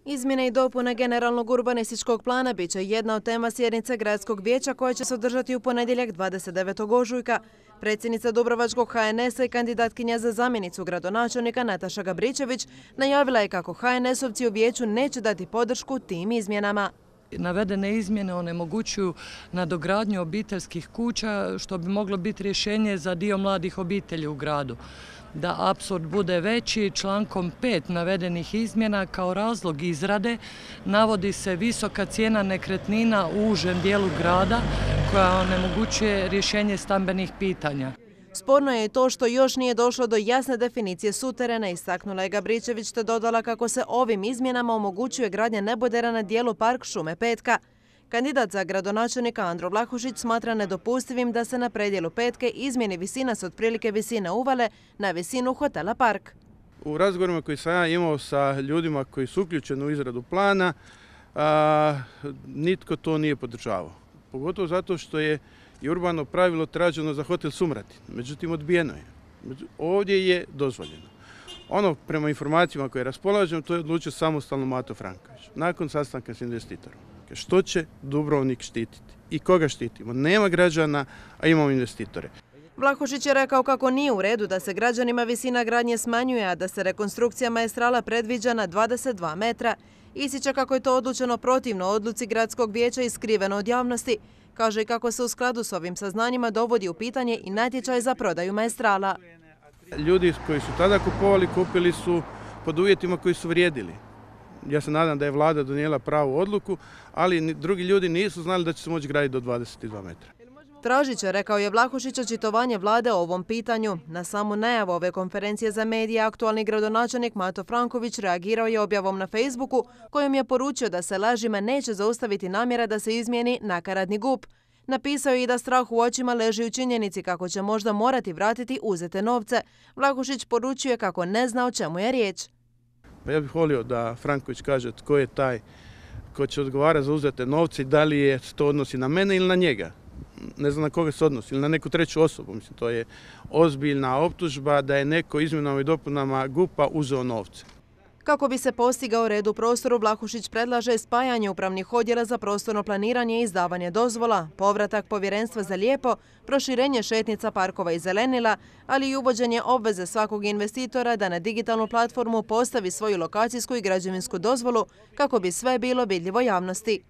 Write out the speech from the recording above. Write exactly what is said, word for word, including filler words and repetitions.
Izmjene i dopune generalnog urbanističkog plana bit će jedna od tema sjednice Gradskog vijeća koja će se održati u ponedjeljak dvadeset devetog ožujka. Predsjednica Dubrovačkog ha en esa i kandidatkinja za zamjenicu gradonačelnika Nataša Gabričević najavila je kako ha en esovci u vijeću neće dati podršku tim izmjenama. Navedene izmjene onemogućuju nadogradnju obiteljskih kuća, što bi moglo biti rješenje za dio mladih obitelji u gradu. Da apsurd bude veći, člankom pet navedenih izmjena kao razlog izrade navodi se visoka cijena nekretnina u užem dijelu grada koja onemogućuje rješenje stambenih pitanja. Sporno je i to što još nije došlo do jasne definicije suterena, istaknula je Gabričević te dodala kako se ovim izmjenama omogućuje gradnja nebodera na dijelu Park šume Petka. Kandidat za gradonačelnika Andro Vlahušić smatra nedopustivim da se na predjelu Petke izmjeni visina s otprilike visine uvale na visinu hotela Park. U razgovorima koji sam ja imao sa ljudima koji su uključeni u izradu plana, a, nitko to nije podržavao. Pogotovo zato što je i urbano pravilo traženo za hotel Sumratin, međutim odbijeno je. Ovdje je dozvoljeno. Ono, prema informacijama koje raspolažem, to je odlučio samostalno Mato Franković, nakon sastanka s investitorom. Što će Dubrovnik štititi i koga štitimo? Nema građana, a imamo investitore. Vlahušić je rekao kako nije u redu da se građanima visina gradnje smanjuje, a da se rekonstrukcija maestrala predviđa na dvadeset dva metra. Ističe kako je to odlučeno protivno odluci Gradskog vijeća i skriveno od javnosti. Kaže i kako se u skladu s ovim saznanjima dovodi u pitanje i natječaj za prodaju maestrala. Ljudi koji su tada kupovali, kupili su pod uvjetima koji su vrijedili. Ja se nadam da je vlada donijela pravu odluku, ali drugi ljudi nisu znali da će se moći graditi do dvadeset dva metra. Tražit će, rekao je Vlahušić, očitovanje vlade o ovom pitanju. Na samu najavu ove konferencije za medije aktualni gradonačelnik Mato Franković reagirao je objavom na Facebooku kojom je poručio da se lažima neće zaustaviti namjera da se izmijeni nakaradni G U P. Napisao je i da strah u očima leži u činjenici kako će možda morati vratiti uzete novce. Vlahušić poručuje kako ne zna o čemu je riječ. Pa ja bih volio da Franković kaže tko je taj ko će odgovarati za uzete novce i da li je to odnosi na mene ili na njega. Ne znam na koga se odnosi, ili na neku treću osobu. Mislim, to je ozbiljna optužba da je neko izmjenama i dopunama G U P-a uzeo novce. Kako bi se postigao red u prostoru, Vlahušić predlaže spajanje upravnih odjela za prostorno planiranje i izdavanje dozvola, povratak povjerenstva za lijepo, proširenje šetnica, parkova i zelenila, ali i uvođenje obveze svakog investitora da na digitalnu platformu postavi svoju lokacijsku i građevinsku dozvolu kako bi sve bilo vidljivo javnosti.